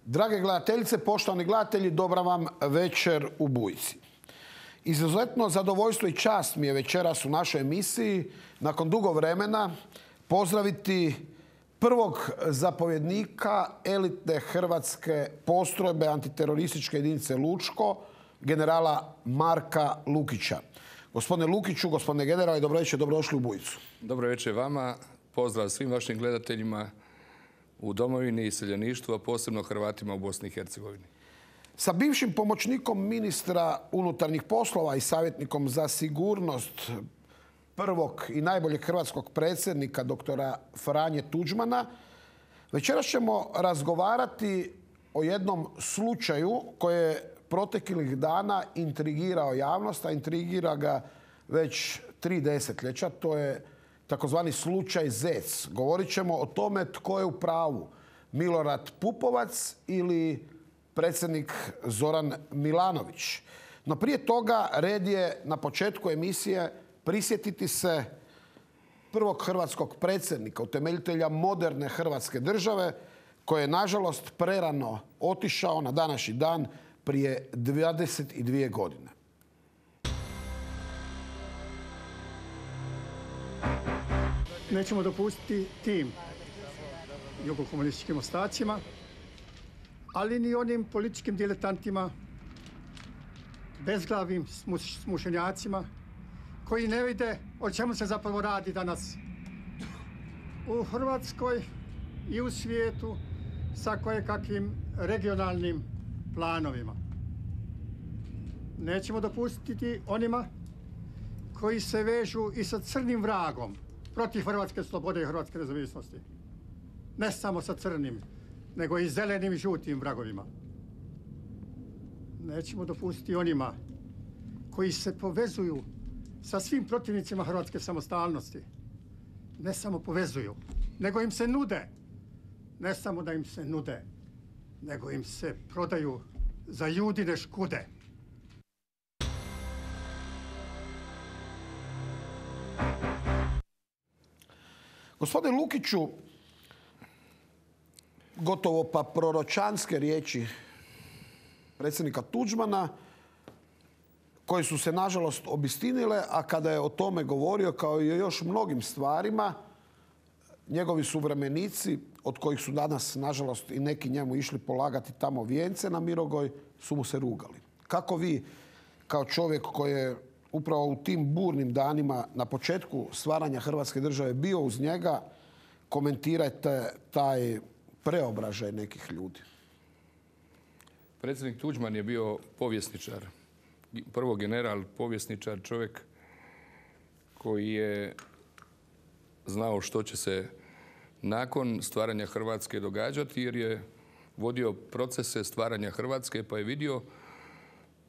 Drage gledateljice, poštovani gledatelji, dobra vam večer u Bujici. Izuzetno zadovoljstvo i čast mi je večeras u našoj emisiji nakon dugo vremena pozdraviti prvog zapovjednika elitne hrvatske postrojbe antiterorističke jedinice Lučko, generala Marka Lukića. Gospodine Lukiću, gospodine generale, dobro večer, dobrodošli u Bujicu. Dobro večer vama, pozdrav svim vašim gledateljima u domovini i iseljeništvu, a posebno Hrvatima u Bosni i Hercegovini. Sa bivšim pomoćnikom ministra unutarnjih poslova i savjetnikom za sigurnost prvog i najboljeg hrvatskog predsjednika doktora Franje Tuđmana večeras ćemo razgovarati o jednom slučaju koji je proteklih dana intrigirao javnost, a intrigira ga već 3 desetljeća. To je takozvani slučaj Zec. Govorit ćemo o tome tko je u pravu, Milorad Pupovac ili predsjednik Zoran Milanović. No prije toga red je na početku emisije prisjetiti se prvog hrvatskog predsjednika, utemeljitelja moderne Hrvatske države, koji je nažalost prerano otišao na današnji dan prije 22 godine. Nećemo dopustiti tim jugokomunističkim ostacima, ali ni onim političkim diletantima, bezglavim smušenjacima koji ne vide o čemu se zapravo radi danas u Hrvatskoj i u svijetu sa kojekakvim regionalnim planovima. Nećemo dopustiti onima koji se vežu i sa crnim vragom protiv hrvatske slobode i hrvatske nezavisnosti. Ne samo sa crnim, nego i zelenim i žutim vragovima. Nećemo dopustiti onima koji se povezuju sa svim protivnicima hrvatske samostalnosti. Ne samo povezuju, nego im se nude. Ne samo da im se nude, nego im se prodaju za Judine škude. Gospodine Lukiću, gotovo pa proročanske riječi predsjednika Tuđmana, koje su se nažalost obistinile, a kada je o tome govorio, kao i o još mnogim stvarima, njegovi suvremenici, od kojih su danas nažalost i neki njemu išli polagati tamo vijence na Mirogoj, su mu se rugali. Kako vi, kao čovjek koji je upravo u tim burnim danima na početku stvaranja Hrvatske države bio uz njega, komentirajte taj preobražaj nekih ljudi? Predsjednik Tuđman je bio povjesničar, prvo general, povjesničar, čovjek koji je znao što će se nakon stvaranja Hrvatske događati, jer je vodio procese stvaranja Hrvatske, pa je vidio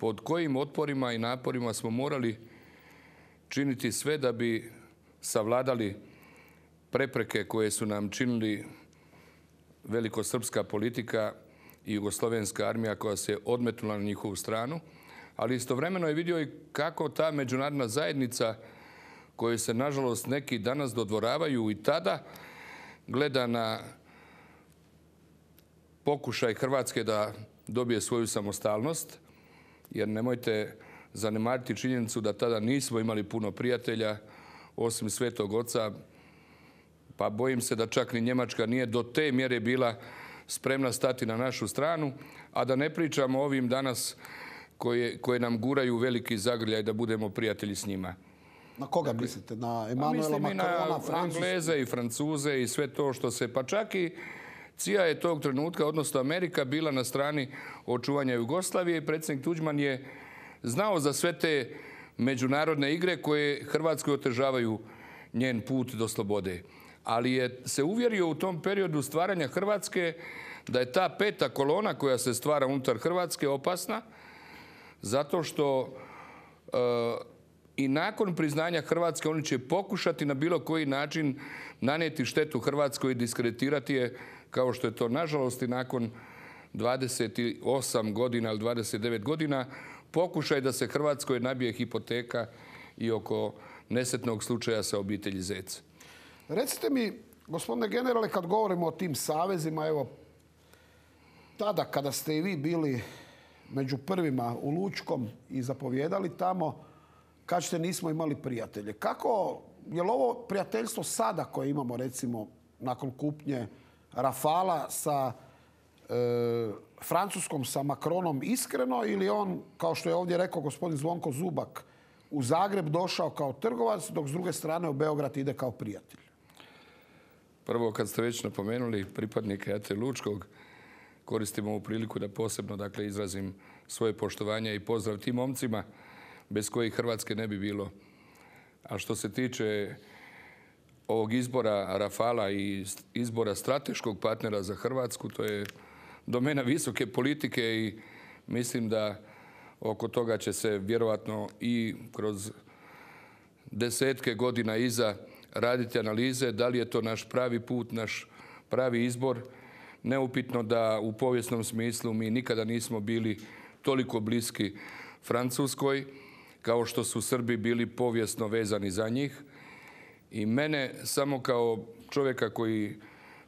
pod kojim otporima i naporima smo morali činiti sve da bi savladali prepreke koje su nam činili velikosrpska politika i jugoslovenska armija koja se odmetnula na njihovu stranu, ali istovremeno je vidio i kako ta međunarodna zajednica, koju se nažalost neki danas dodvoravaju i tada, gleda na pokušaj Hrvatske da dobije svoju samostalnost, jer nemojte zanemariti činjenicu da tada nismo imali puno prijatelja, osim Svetog Oca, pa bojim se da čak ni Njemačka nije do te mjere bila spremna stati na našu stranu, a da ne pričamo o ovim danas koje nam guraju veliki zagrljaj da budemo prijatelji s njima. Na koga mislite? Na Emanuela Macrona, na Angleze i Francuze i sve to što se, pa čak i CIA je tog trenutka, odnosno Amerika, bila na strani očuvanja Jugoslavije i predsjednik Tuđman je znao za sve te međunarodne igre koje Hrvatskoj otežavaju njen put do slobode. Ali je se uvjerio u tom periodu stvaranja Hrvatske da je ta peta kolona koja se stvara unutar Hrvatske opasna, zato što i nakon priznanja Hrvatske oni će pokušati na bilo koji način nanijeti štetu Hrvatskoj i diskreditirati je, kao što je to nažalost i nakon 28 godina ili 29 godina pokušaj da se Hrvatskoj nabije hipoteka i oko nesretnog slučaja sa obitelji Zec. Recite mi, gospodine generale, kad govorimo o tim savezima, evo, tada kada ste i vi bili među prvima u Lučkom i zapovijedali tamo, kažete nismo imali prijatelje. Kako, je li ovo prijateljstvo sada koje imamo recimo nakon kupnje Rafala sa Francuskom, sa Macronom iskreno ili on, kao što je ovdje rekao gospodin Zvonko Zubak, u Zagreb došao kao trgovac, dok s druge strane u Beograd ide kao prijatelj? Prvo, kad ste već napomenuli pripadnike AT Lučkog, koristim ovu priliku da posebno izrazim svoje poštovanje i pozdrav tim momcima bez kojih Hrvatske ne bi bilo. A što se tiče ovog izbora Rafala i izbora strateškog partnera za Hrvatsku, to je domena visoke politike i mislim da oko toga će se vjerojatno i kroz desetke godina iza raditi analize da li je to naš pravi put, naš pravi izbor. Neupitno da u povijesnom smislu mi nikada nismo bili toliko bliski Francuskoj kao što su Srbi bili povijesno vezani za njih. I mene samo kao čovjeka koji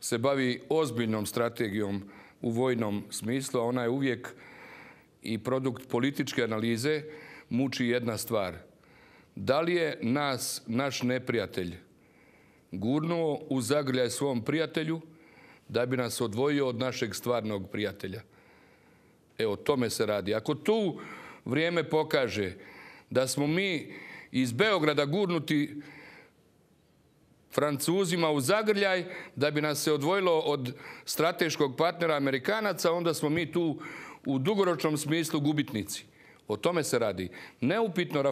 se bavi ozbiljnom strategijom u vojnom smislu, a ona je uvijek i produkt političke analize, muči jedna stvar. Da li je naš neprijatelj gurnuo u zagrljaj svom prijatelju da bi nas odvojio od našeg stvarnog prijatelja? Evo, o tome se radi. Ako tu vrijeme pokaže da smo mi iz Beograda gurnuti Francuzima u zagrljaj da bi nas se odvojilo od strateškog partnera Amerikanaca, onda smo mi tu u dugoročnom smislu gubitnici. O tome se radi. Neupitno,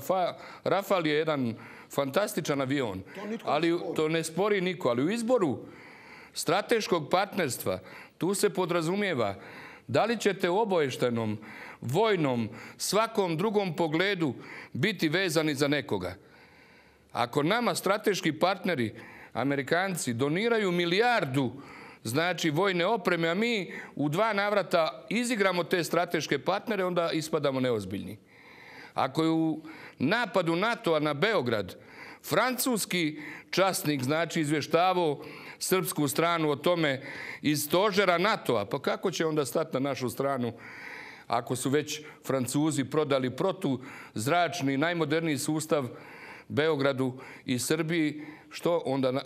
Rafal je jedan fantastičan avion, ali to ne spori niko. Ali u izboru strateškog partnerstva tu se podrazumijeva da li ćete u obavještajnom, vojnom, svakom drugom pogledu biti vezani za nekoga. Ako nama strateški partneri, Amerikanci, doniraju milijardu vojne opreme, a mi u 2 navrata izigramo te strateške partnere, onda ispadamo neozbiljni. Ako je u napadu NATO-a na Beograd francuski časnik izvještavao srpsku stranu o tome iz stožera NATO-a, pa kako će onda stati na našu stranu ako su već Francuzi prodali protuzračni najmoderniji sustav Beogradu i Srbiji, što onda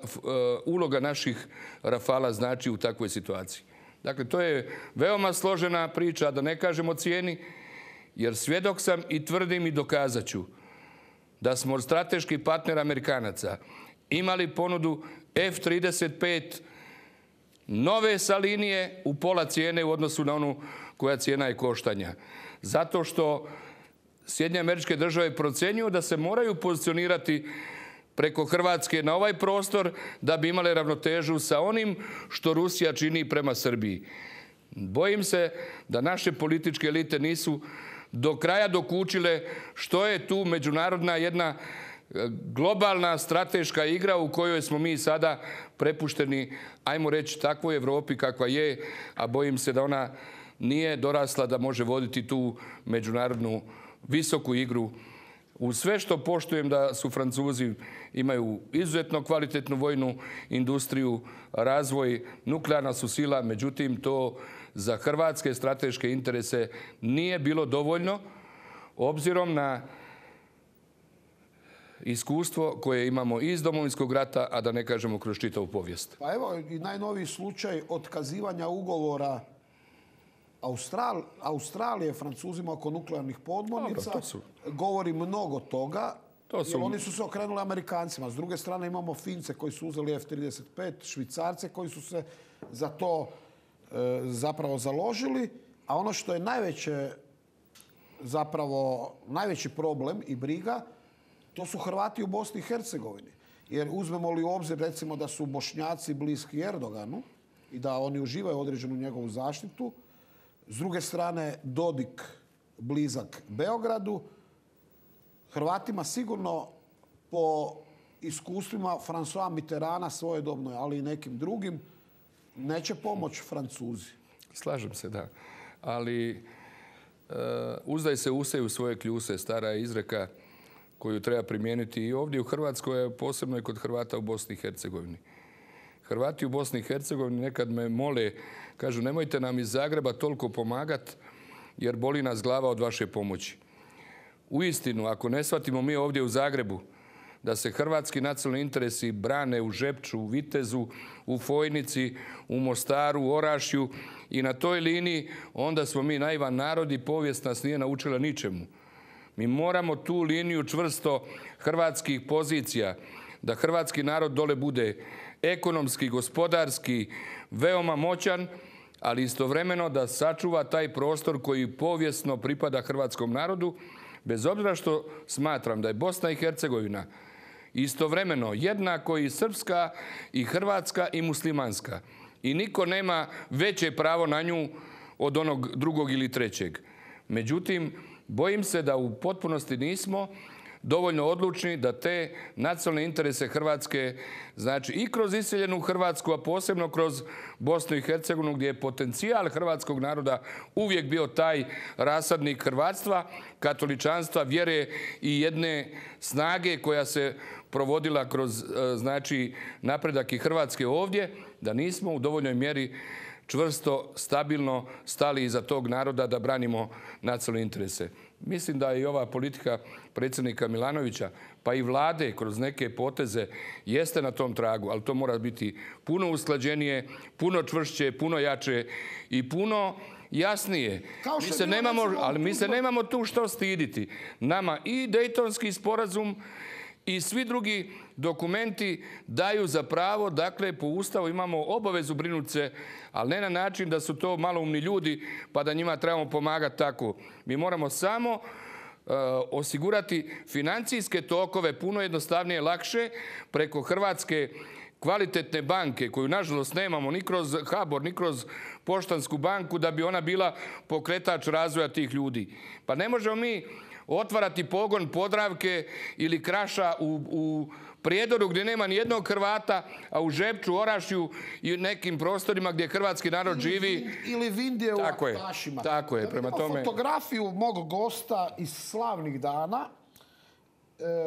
uloga naših Rafala znači u takvoj situaciji. Dakle, to je veoma složena priča, da ne kažem o cijeni, jer svjedok sam i tvrdim i dokazat ću da smo od strateških partnera Amerikanaca imali ponudu F-35 nove sa linije u pola cijene u odnosu na onu koja cijena je koštanja. Zato što Sjedinjene Američke Države procjenjuju da se moraju pozicionirati preko Hrvatske na ovaj prostor da bi imale ravnotežu sa onim što Rusija čini prema Srbiji. Bojim se da naše političke elite nisu do kraja dokučile što je tu međunarodna jedna globalna strateška igra u kojoj smo mi sada prepušteni, ajmo reći, takvoj Europi kakva je, a bojim se da ona nije dorasla da može voditi tu međunarodnu visoku igru. Uz sve što poštujem da su Francuzi imaju izuzetno kvalitetnu vojnu industriju, razvoj, nuklearna su sila, međutim to za hrvatske strateške interese nije bilo dovoljno obzirom na iskustvo koje imamo iz Domovinskog rata, a da ne kažemo kroz čitavu povijest. Pa evo i najnoviji slučaj otkazivanja ugovora Australije Francuzima oko nuklearnih podmornica. Govori mnogo toga, jer oni su se okrenuli Amerikancima. S druge strane imamo Fince koji su uzeli F-35, Švicarce koji su se za to zapravo založili. A ono što je najveći problem i briga, to su Hrvati u Bosni i Hercegovini. Jer uzmemo li u obzir recimo da su Bošnjaci bliski Erdoganu i da oni uživaju određenu njegovu zaštitu, s druge strane Dodik blizak Beogradu, Hrvatima sigurno po iskustvima François Mitterranda svojedobno, ali i nekim drugim, neće pomoći Francuzi. Slažem se, da. Ali uzdaj se use u svoje kljuse, stara je izreka koju treba primijeniti i ovdje u Hrvatskoj, a posebno i kod Hrvata u Bosni i Hercegovini. Hrvati u Bosni i Hercegovini nekad me mole, kažu nemojte nam iz Zagreba toliko pomagati jer boli nas glava od vaše pomoći. Uistinu, ako ne shvatimo mi ovdje u Zagrebu da se hrvatski nacionalni interesi brane u Žepču, u Vitezu, u Fojnici, u Mostaru, u Orašju i na toj liniji, onda smo mi naivan narod i povijest nas nije naučila ničemu. Mi moramo tu liniju čvrsto hrvatskih pozicija, da hrvatski narod dole bude ekonomski, gospodarski, veoma moćan, ali istovremeno da sačuva taj prostor koji povijesno pripada hrvatskom narodu, bez obzira što smatram da je Bosna i Hercegovina istovremeno jednako i srpska i hrvatska i muslimanska. I niko nema veće pravo na nju od onog drugog ili trećeg. Međutim, bojim se da u potpunosti nismo dovoljno odlučni da te nacionalne interese Hrvatske, znači i kroz iseljenu Hrvatsku, a posebno kroz Bosnu i Hercegovinu, gdje je potencijal hrvatskog naroda uvijek bio taj rasadnik hrvatstva, katoličanstva, vjere i jedne snage koja se provodila kroz znači napredak i Hrvatske ovdje, da nismo u dovoljnoj mjeri čvrsto, stabilno stali iza tog naroda da branimo nacionalne interese. Mislim da i ova politika predsjednika Milanovića, pa i vlade kroz neke poteze jeste na tom tragu, ali to mora biti puno usklađenije, puno čvršće, puno jače i puno jasnije. Mi se nemamo tu što stiditi. Nama i Dejtonski sporazum i svi drugi dokumenti daju za pravo, dakle, po Ustavu imamo obavezu brinuti se, ali ne na način da su to maloumni ljudi pa da njima trebamo pomagati tako. Mi moramo samo osigurati financijske tokove puno jednostavnije, lakše preko Hrvatske kvalitetne banke, koju nažalost nemamo ni kroz HBOR, ni kroz Poštansku banku, da bi ona bila pokretač razvoja tih ljudi. Pa ne možemo mi otvarati pogon Podravke ili Kraša u Prijedoru gdje nema ni jednog Hrvata, a u Žepču, Orašju i nekim prostorima gdje hrvatski narod živi. Ili Vindije u Aktašima. Tako je, prema tome. Fotografiju mog gosta iz slavnih dana,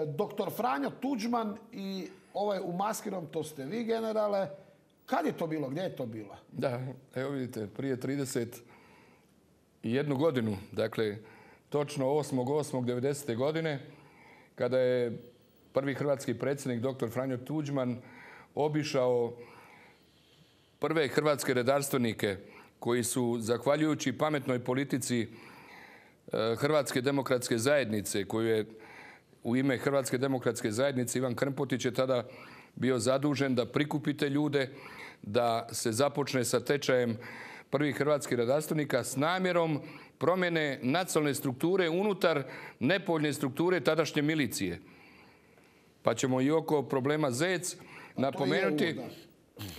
doktor Franjo Tuđman i ovaj umaskirom, to ste vi, generale. Kad je to bilo? Gdje je to bilo? Da, evo vidite, prije 31 godinu, dakle, točno 8.8.1990. godine, kada je prvi hrvatski predsjednik, dr. Franjo Tuđman, obišao prve hrvatske redarstvenike koji su, zahvaljujući pametnoj politici Hrvatske demokratske zajednice, koju je u ime Hrvatske demokratske zajednice Ivan Krmpotić je tada bio zadužen da prikupite ljude, da se započne sa tečajem prvih hrvatskih redarstvenika s namjerom promjene nacionalne strukture unutar nepovoljne strukture tadašnje milicije. Pa ćemo i oko problema Zec napomenuti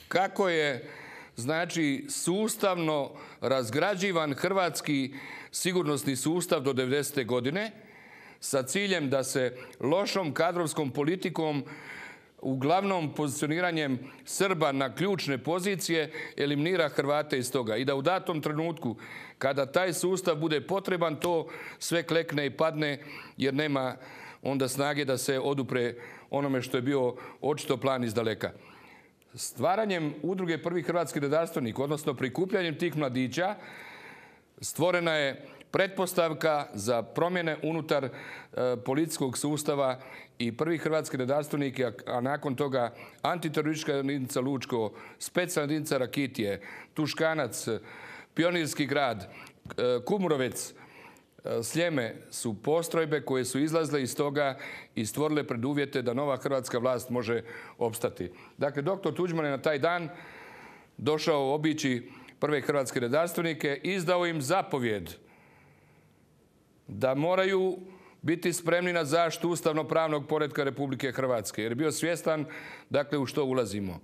kako je, znači, sustavno razgrađivan hrvatski sigurnosni sustav do 90. godine sa ciljem da se lošom kadrovskom politikom, uglavnom pozicioniranjem Srba na ključne pozicije, eliminira Hrvate iz toga. I da u datom trenutku, kada taj sustav bude potreban, to sve klekne i padne, jer nema onda snage da se odupre onome što je bio očito plan iz daleka. Stvaranjem udruge Prvi hrvatski redarstvenik, odnosno prikupljanjem tih mladića, stvorena je pretpostavka za promjene unutar policijskog sustava i Prvi hrvatski redarstvenik, a nakon toga antiteroristička jedinica Lučko, specijalna jedinica Rakitije, Tuškanac, Pionirski grad, Kumurovec, Sljeme su postrojbe koje su izlazile iz toga i stvorile preduvjete da nova hrvatska vlast može opstati. Dakle, dr. Tuđman je na taj dan došao obići prve hrvatske redarstvenike, izdao im zapovjed da moraju biti spremni na zaštitu ustavno-pravnog poretka Republike Hrvatske, jer je bio svjestan, dakle, u što ulazimo.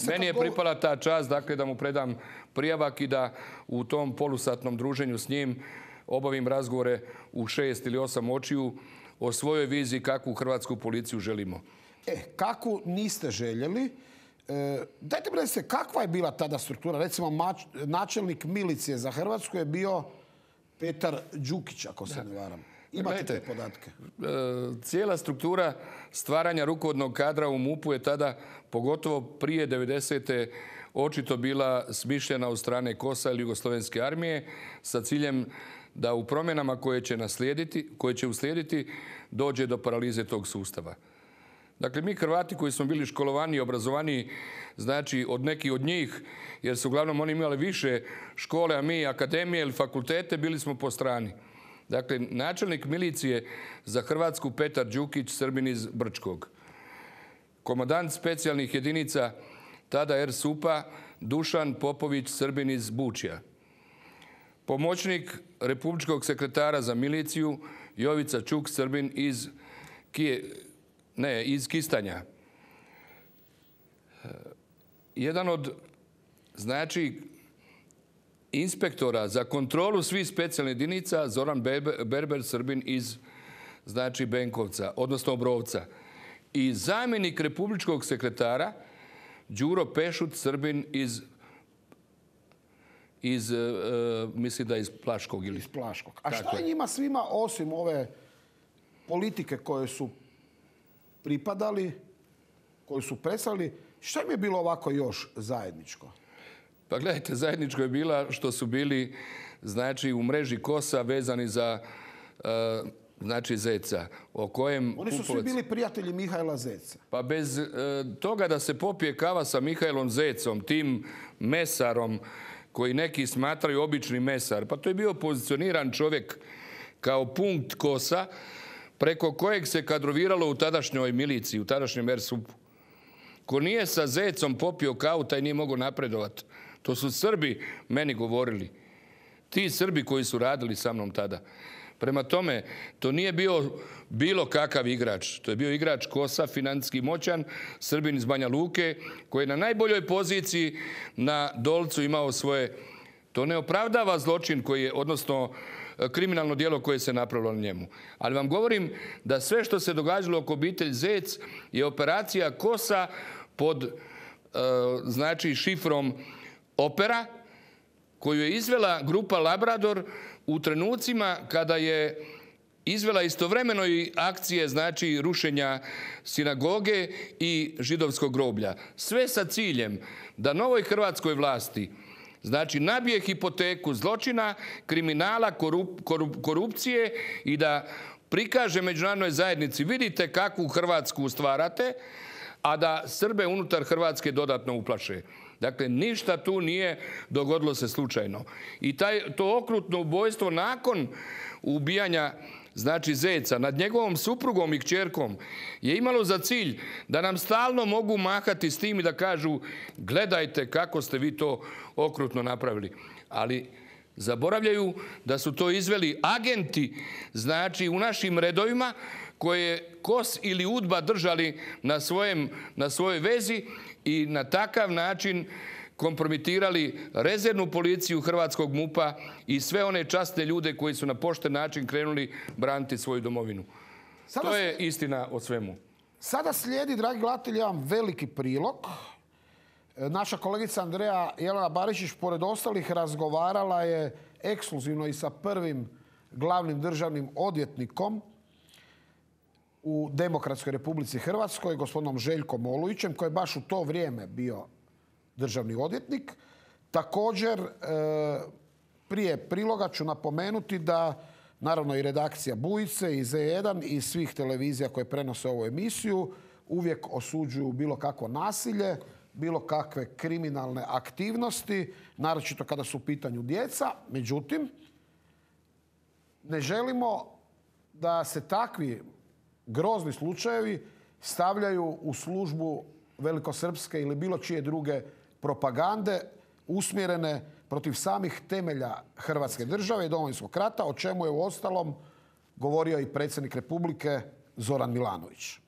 Meni je pripala ta čast, dakle, da mu predam prijavak i da u tom polusatnom druženju s njim obavim razgovore u 6 ili 8 očiju o svojoj viziji kakvu hrvatsku policiju želimo. Kakvu niste željeli? Dajte mi recite, kakva je bila tada struktura? Recimo, načelnik milicije za Hrvatsku je bio Petar Đukić, ako se ne varam. Imate te podatke? Cijela struktura stvaranja rukovodnog kadra u MUP-u je tada, pogotovo prije 90. očito bila smišljena od strane KOS-a ili Jugoslovenske armije sa ciljem da u promjenama koje će uslijediti dođe do paralize tog sustava. Dakle, mi Hrvati koji smo bili školovani i obrazovani, znači od nekih od njih, jer su uglavnom oni imali više škole, a mi akademije ili fakultete, bili smo po strani. Dakle, načelnik milicije za Hrvatsku Petar Đukić, Srbin iz Brčkog. Komandant specijalnih jedinica tada RSUP-a Dušan Popović, Srbin iz Bučja. Pomoćnik republičkog sekretara za miliciju Jovica Čuk, Srbin iz Kistanja. Jedan od, znači, inspektora za kontrolu svih specijalnih jedinica Zoran Berber, Srbin iz, znači, Benkovca, odnosno Obrovca. I zamjenik republičkog sekretara Đuro Pešut, Srbin mislim da iz Plaškog. Iz Plaškog. A šta je njima svima, osim ove politike koje su pripadali, koju su predstavili, šta im je bilo ovako još zajedničko? Pa gledajte, zajedničko je bila što su bili, znači, u mreži KOS-a vezani za, znači, Zeca, o kojem... Oni su svi bili prijatelji Mihajla Zeca. Pa bez toga da se popije kava sa Mihajlom Zecom, tim mesarom koji neki smatraju obični mesar, pa to je bio pozicioniran čovjek kao punkt KOS-a preko kojeg se kadroviralo u tadašnjoj miliciji, u tadašnjem RSUP-u. Ko nije sa Zecom popio kavu, taj nije mogao napredovati. To su Srbi meni govorili. Ti Srbi koji su radili sa mnom tada. Prema tome, to nije bio bilo kakav igrač. To je bio igrač KOS-a, financijski moćan, Srbin iz Banja Luke, koji je na najboljoj poziciji na Dolcu imao svoje... To ne opravdava zločin koji je, odnosno kriminalno djelo koje se napravilo na njemu. Ali vam govorim da sve što se događalo oko obitelji Zec je operacija KOS-a pod, znači, šifrom Opera, koju je izvela grupa Labrador u trenucima kada je izvela istovremeno i akcije, znači, rušenja sinagoge i židovskog groblja. Sve sa ciljem da novoj hrvatskoj vlasti, znači, nabije hipoteku zločina, kriminala, korupcije i da prikaže međunarodnoj zajednici vidite kakvu Hrvatsku stvarate, a da Srbe unutar Hrvatske dodatno uplaše. Dakle, ništa tu nije dogodilo se slučajno. I to okrutno ubojstvo nakon ubijanja, znači, Zeca nad njegovom suprugom i kćerkom je imalo za cilj da nam stalno mogu mahati s tim i da kažu gledajte kako ste vi to okrutno napravili. Ali zaboravljaju da su to izveli agenti, znači, u našim redovima koje KOS ili UDBA držali na svojoj vezi i na takav način kompromitirali rezervnu policiju hrvatskog MUP-a i sve one časne ljude koji su na pošten način krenuli braniti svoju domovinu. To je istina o svemu. Sada slijedi, dragi gledatelji, jedan veliki prilog. Naša kolegica Andreja Jelena Barišić, pored ostalih, razgovarala je ekskluzivno i sa prvim glavnim državnim odvjetnikom u Demokratskoj Republici Hrvatskoj, gospodinom Željkom Olujićem, koji je baš u to vrijeme bio državni odvjetnik. Također, prije priloga ću napomenuti da, naravno, i redakcija Bujice i Z1 i svih televizija koje prenose ovu emisiju uvijek osuđuju bilo kakvo nasilje, bilo kakve kriminalne aktivnosti, naročito kada su u pitanju djeca. Međutim, ne želimo da se takvi grozni slučajevi stavljaju u službu velikosrpske ili bilo čije druge propagande usmjerene protiv samih temelja Hrvatske države i Domovinskog rata, o čemu je uostalom govorio i predsjednik Republike Zoran Milanović.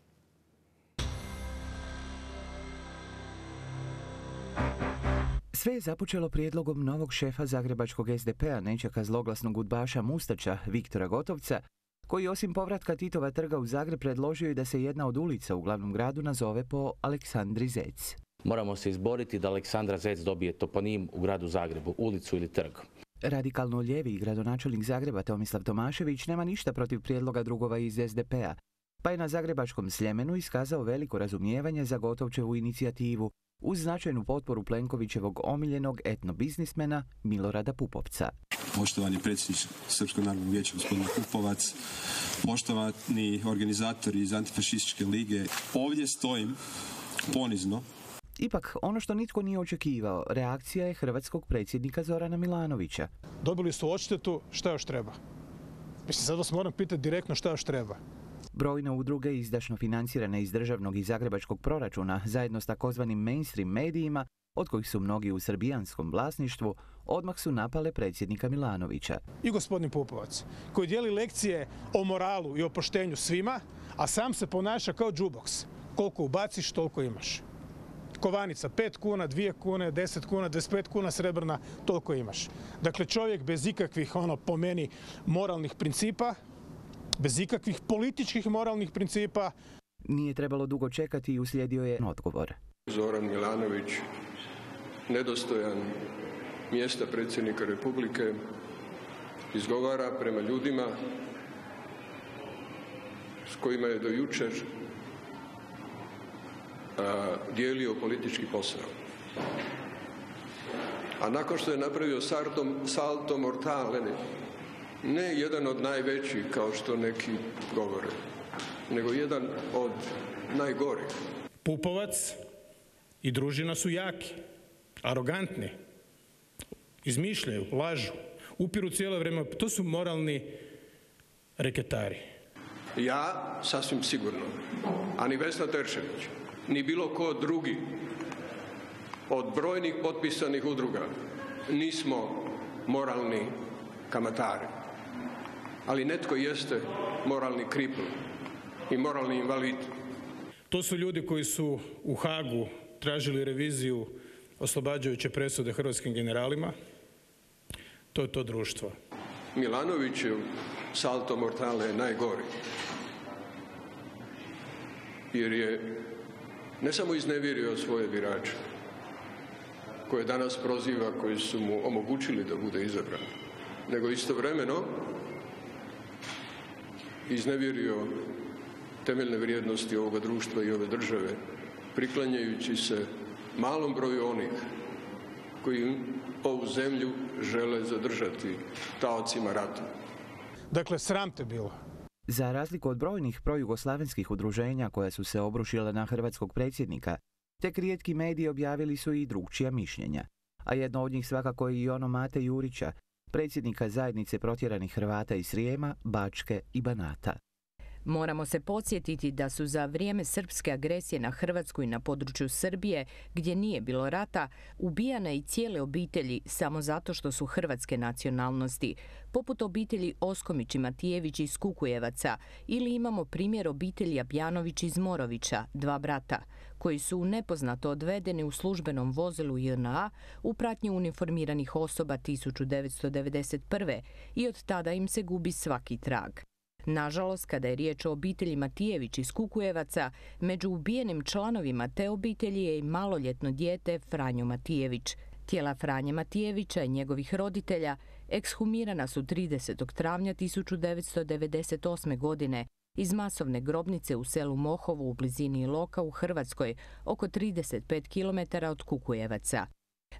Sve je započelo prijedlogom novog šefa zagrebačkog SDP-a, nećaka zloglasnog udbaša Mustača, Viktora Gotovca, koji osim povratka Titova trga u Zagreb predložio i da se jedna od ulica u glavnom gradu nazove po Aleksandri Zec. Moramo se izboriti da Aleksandra Zec dobije toponim u gradu Zagrebu, ulicu ili trg. Radikalno lijevi gradonačelnik Zagreba Tomislav Tomašević nema ništa protiv prijedloga drugova iz SDP-a, pa je na zagrebačkom Sljemenu iskazao veliko razumijevanje za Gotovčevu inicijativu uz značajnu potporu Plenkovićevog omiljenog etnobiznismena Milorada Pupovca. Poštovani predsjednik Srpskog narodnog vijeća gospodin Pupovac, poštovani organizatori iz Antifašističke lige, ovdje stojim ponizno. Ipak, ono što nitko nije očekivao, reakcija je hrvatskog predsjednika Zorana Milanovića. Dobili su odštetu, šta još treba? Mislim, sad vas moram pitati direktno šta još treba. Brojne udruge, izdašno financirane iz državnog i zagrebačkog proračuna, zajedno s takozvanim mainstream medijima, od kojih su mnogi u srbijanskom vlasništvu, odmah su napale predsjednika Milanovića. I gospodin Pupovac, koji dijeli lekcije o moralu i o poštenju svima, a sam se ponaša kao džuboks. Koliko ubaciš, toliko imaš. Kovanica 5 kuna, 2 kune, 10 kuna, 25 kuna srebrna, toliko imaš. Dakle, čovjek bez ikakvih, po meni, moralnih principa, bez ikakvih političkih moralnih principa. Nije trebalo dugo čekati i uslijedio je odgovor. Zoran Milanović, nedostojan mjesta predsjednika Republike, izgovara prema ljudima s kojima je do jučer dijelio politički posao. A nakon što je napravio salto mortale, ne jedan od najvećih kao što neki govore, nego jedan od najgorih. Pupovac i družina su jaki, arogantni, izmišljaju, lažu, upiru cijelo vrijeme. To su moralni reketari. Ja sasvim sigurno, a ni Vesna Teršelić, ni bilo ko drugi od brojnih potpisanih udruga nismo moralni kamatari. Ali netko jeste moralni kripl i moralni invalid. To su ljudi koji su u Hagu tražili reviziju oslobađajuće presude hrvatskim generalima. To je to društvo. Milanovićev salto mortale je najgori. Jer je ne samo iznevjerio svoje birače, koje danas proziva, koji su mu omogućili da bude izabran, nego istovremeno iznevjerio temeljne vrijednosti ovoga društva i ove države, priklanjajući se malom broju onih koji ovu zemlju žele zadržati taocima rata. Dakle, sram te bilo. Za razliku od brojnih projugoslavenskih udruženja koja su se obrušila na hrvatskog predsjednika, tek rijetki mediji objavili su i drukčija mišljenja. A jedno od njih svakako je i ono Mate Jurića, predsjednika zajednice protjeranih Hrvata iz Srijema, Bačke i Banata. Moramo se podsjetiti da su za vrijeme srpske agresije na Hrvatsku i na području Srbije, gdje nije bilo rata, ubijane i cijele obitelji samo zato što su hrvatske nacionalnosti, poput obitelji Oskomić i Matijević iz Kukujevaca, ili imamo primjer obitelji Abjanović iz Morovića, 2 brata, koji su nepoznato odvedeni u službenom vozilu JNA u pratnji uniformiranih osoba 1991. i od tada im se gubi svaki trag. Nažalost, kada je riječ o obitelji Matijević iz Kukujevaca, među ubijenim članovima te obitelji je i maloljetno dijete Franjo Matijević. Tijela Franje Matijevića i njegovih roditelja ekshumirana su 30. travnja 1998. godine iz masovne grobnice u selu Mohovu u blizini Iloka u Hrvatskoj, oko 35 km od Kukujevaca.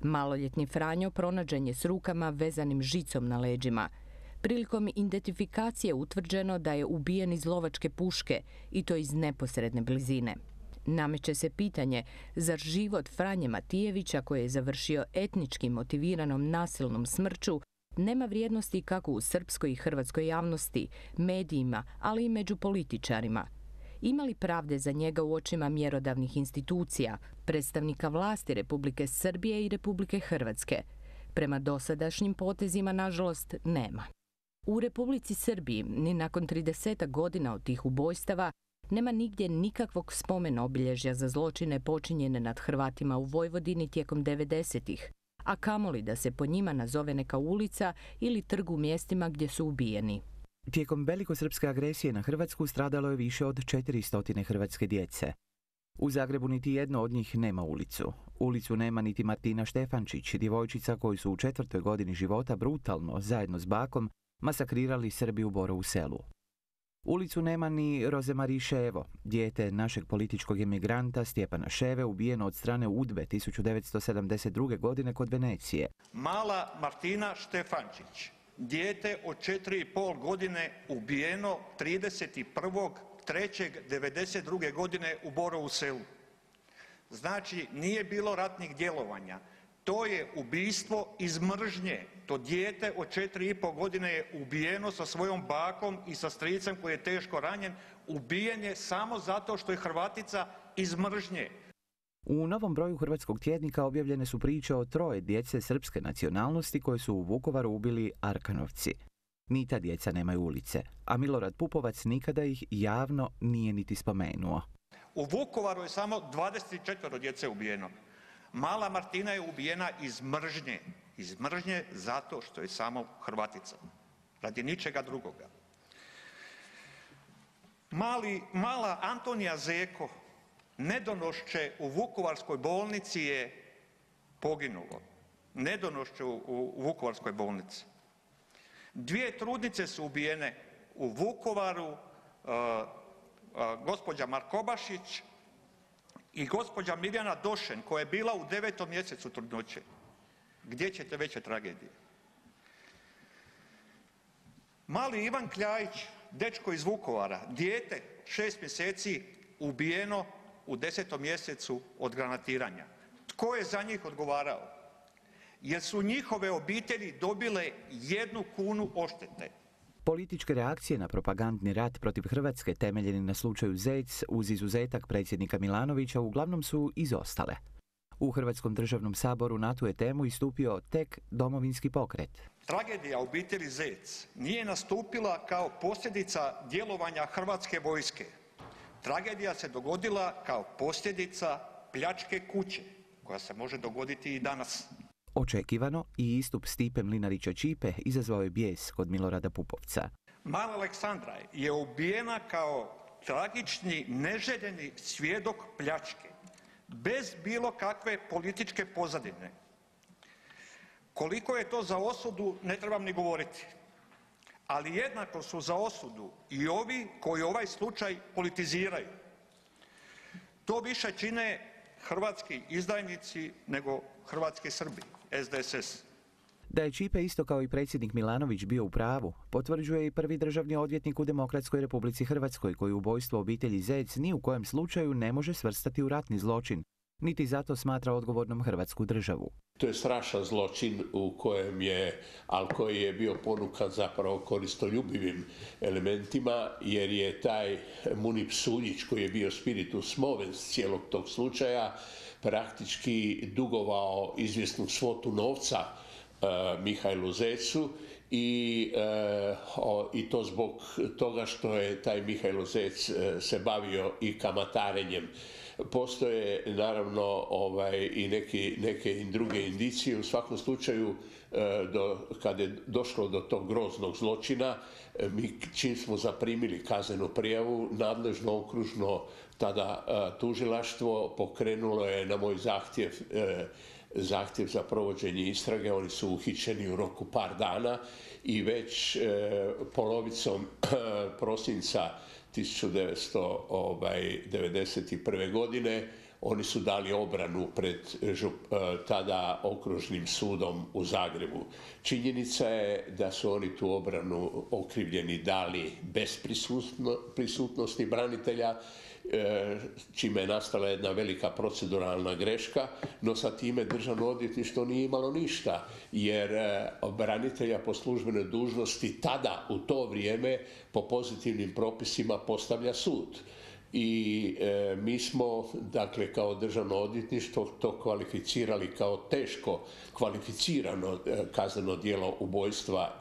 Maloljetni Franjo pronađen je s rukama vezanim žicom na leđima. Prilikom identifikacije utvrđeno da je ubijen iz lovačke puške i to iz neposredne blizine. Nameće se pitanje, zar život Franje Matijevića, koji je završio etnički motiviranom nasilnom smrću, nema vrijednosti kako u srpskoj i hrvatskoj javnosti, medijima, ali i među političarima? Ima li pravde za njega u očima mjerodavnih institucija, predstavnika vlasti Republike Srbije i Republike Hrvatske? Prema dosadašnjim potezima, nažalost, nema. U Republici Srbiji, ni nakon 30 godina od tih ubojstava, nema nigdje nikakvog spomena obilježja za zločine počinjene nad Hrvatima u Vojvodini tijekom 90-ih, a kamoli da se po njima nazove neka ulica ili trg u mjestima gdje su ubijeni. Tijekom velikosrpske agresije na Hrvatsku stradalo je više od 400 hrvatske djece. U Zagrebu niti jedno od njih nema ulicu. Ulicu nema niti Martina Štefančić, djevojčica koju su u 4. godini života brutalno, zajedno s bakom, masakrirali Srbi u Borovu Selu. Ulicu nema ni Rozemarie Ševo, dijete našeg političkog emigranta Stjepana Ševe, ubijeno od strane UDBE 1972. godine kod Venecije. Mala Martina Štefančić, dijete od 4,5 godine, ubijeno 31.3.1992. godine u Borovu Selu. Znači, nije bilo ratnih djelovanja. To je ubijstvo iz mržnje. To dijete od 4,5 godine je ubijeno sa svojom bakom i sa stricem koji je teško ranjen. Ubijen je samo zato što je Hrvatica iz mržnje. U novom broju Hrvatskog tjednika objavljene su priče o 3 djece srpske nacionalnosti koje su u Vukovaru ubili Arkanovci. Ni ta djeca nemaju ulice, a Milorad Pupovac nikada ih javno nije niti spomenuo. U Vukovaru je samo 24 djece ubijeno. Mala Martina je ubijena iz mržnje. Iz mržnje zato što je samo Hrvatica. Radi ničega drugoga. Mala Antonija Zeko, nedonošće u Vukovarskoj bolnici je poginulo. Nedonošće u Vukovarskoj bolnici. 2 trudnice su ubijene u Vukovaru, gospođa Markobašić i gospođa Mirjana Došen, koja je bila u 9. mjesecu trudnoće. Gdje ćete veće tragedije? Mali Ivan Kljajić, dečko iz Vukovara, dijete 6 mjeseci, ubijeno u 10. mjesecu od granatiranja. Tko je za njih odgovarao? Jer su njihove obitelji dobile 1 kunu odštete. Političke reakcije na propagandni rat protiv Hrvatske temeljeni na slučaju Zec uz izuzetak predsjednika Milanovića uglavnom su izostale. U Hrvatskom državnom saboru na tu je temu istupio tek Domovinski pokret. Tragedija obitelji Zec nije nastupila kao posljedica djelovanja Hrvatske vojske. Tragedija se dogodila kao posljedica pljačke kuće, koja se može dogoditi i danas. Očekivano i istup Stipe Mlinarića Ćipe izazvao je bijes kod Milorada Pupovca. Mala Aleksandra je ubijena kao tragični, neželjeni svjedok pljačke, bez bilo kakve političke pozadine. Koliko je to za osudu, ne trebam ni govoriti. Ali jednako su za osudu i ovi koji ovaj slučaj politiziraju. To više čine hrvatski izdajnici nego hrvatski Srbi, SDSS. Da je Ćipe isto kao i predsjednik Milanović bio u pravu, potvrđuje i prvi državni odvjetnik u Demokratskoj Republici Hrvatskoj, koji ubojstvo obitelji Zec ni u kojem slučaju ne može svrstati u ratni zločin, niti zato smatra odgovornom Hrvatsku državu. To je strašan zločin u kojem koji je bio ponukan zapravo koristoljubivim elementima, jer je taj Munip Suljić, koji je bio spiritus movens cijelog tog slučaja, praktički dugovao izvjesnu svotu novca Mihajlu Zecu i to zbog toga što je taj Mihajlo Zec se bavio i kamatarenjem. Postoje naravno i neke druge indicije. U svakom slučaju, kada je došlo do tog groznog zločina, mi čim smo zaprimili kaznenu prijavu, nadležno okružno tada tužilaštvo pokrenulo je na moj zahtjev za provođenje istrage. Oni su uhićeni u roku par dana i već polovicom prosinca 1991. godine oni su dali obranu pred tada okružnim sudom u Zagrebu. Činjenica je da su oni tu obranu okrivljeni dali bez prisutnosti branitelja, čime je nastala jedna velika proceduralna greška, no sa time Državno odvjetništvo nije imalo ništa, jer branitelja po službenoj dužnosti tada, u to vrijeme, po pozitivnim propisima postavlja sud. I mi smo, dakle, kao Državno odvjetništvo to kvalificirali kao teško kvalificirano kazneno djelo ubojstva,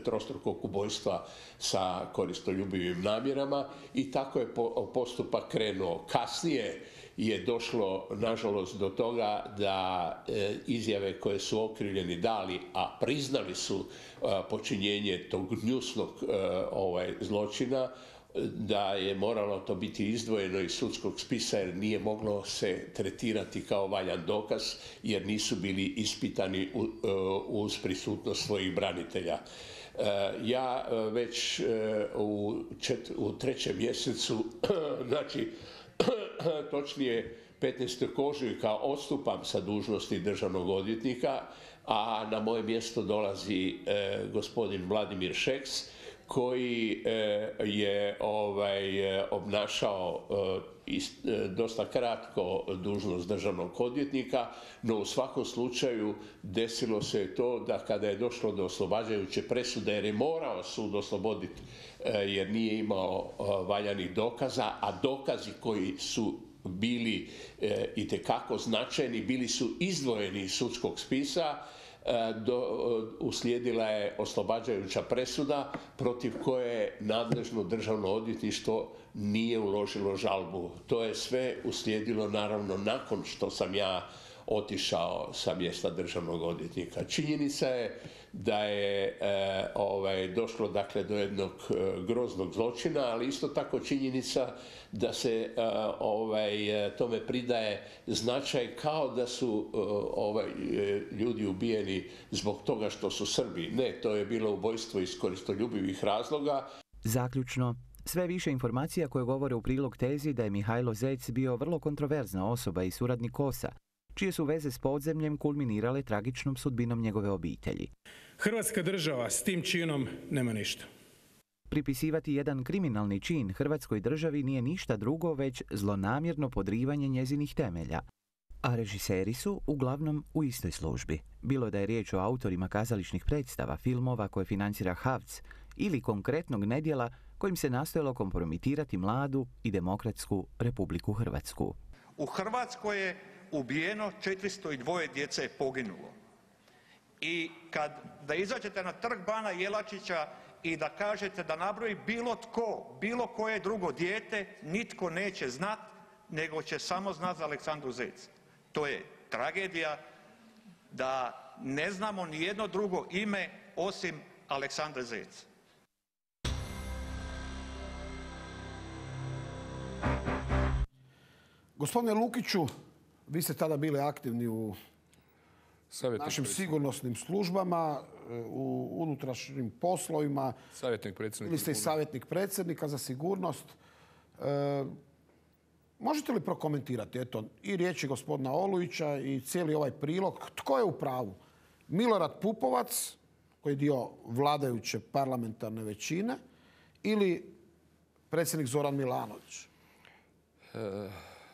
trostrukog ubojstva sa koristoljubivim namjerama, i tako je postupak krenuo. Kasnije je došlo, nažalost, do toga da izjave koje su okrivljeni dali, a priznali su počinjenje tog gnjusnog zločina, da je moralo to biti izdvojeno iz sudskog spisa jer nije moglo se tretirati kao valjan dokaz jer nisu bili ispitani uz prisutnost svojih branitelja. Ja već u 3. mjesecu, znači točnije 15. ožujka odstupam sa dužnosti državnog odvjetnika, a na moje mjesto dolazi gospodin Vladimir Šeks, koji je obnašao dosta kratko dužnost državnog odvjetnika, no u svakom slučaju desilo se to da kada je došlo do oslobađajuće presude, jer je morao sud osloboditi jer nije imao valjanih dokaza, a dokazi koji su bili itekako značajni, bili su izdvojeni iz sudskog spisa, uslijedila je oslobađajuća presuda protiv koje nadležno državno odvjetništvo nije uložilo žalbu. To je sve uslijedilo naravno nakon što sam ja otišao sa mjesta državnog odvjetnika. Činjenica je da je došlo dakle do jednog groznog zločina, ali isto tako činjenica da se tome pridaje značaj kao da su ljudi ubijeni zbog toga što su Srbi. Ne, to je bilo ubojstvo iz koristoljubivih razloga. Zaključno, sve više informacija koje govore u prilog tezi da je Mihajlo Zec bio vrlo kontroverzna osoba i suradnik KOS-a, čije su veze s podzemljem kulminirale tragičnom sudbinom njegove obitelji. Hrvatska država s tim činom nema ništa. Pripisivati jedan kriminalni čin Hrvatskoj državi nije ništa drugo već zlonamjerno podrivanje njezinih temelja. A režiseri su uglavnom u istoj službi. Bilo da je riječ o autorima kazališnih predstava, filmova koje financira HAVC ili konkretnog nedjela kojim se nastojalo kompromitirati mladu i demokratsku Republiku Hrvatsku. U Hrvatskoj je ubijeno 402 djece je poginulo. I da izađete na trg Bana Jelačića i da kažete da nabroji bilo tko, bilo koje drugo dijete, nitko neće znat, nego će samo znat za Aleksandru Zec. To je tragedija da ne znamo ni jedno drugo ime osim Aleksandre Zec. Gospodine Lukiću, vi ste tada bili aktivni u našim sigurnosnim službama, u unutrašnjim poslovima. Bili ste i savjetnik predsjednika za sigurnost. Možete li prokomentirati i riječi gospodina Olujića i cijeli ovaj prilog? Tko je u pravu? Milorad Pupovac, koji je dio vladajuće parlamentarne većine, ili predsjednik Zoran Milanović?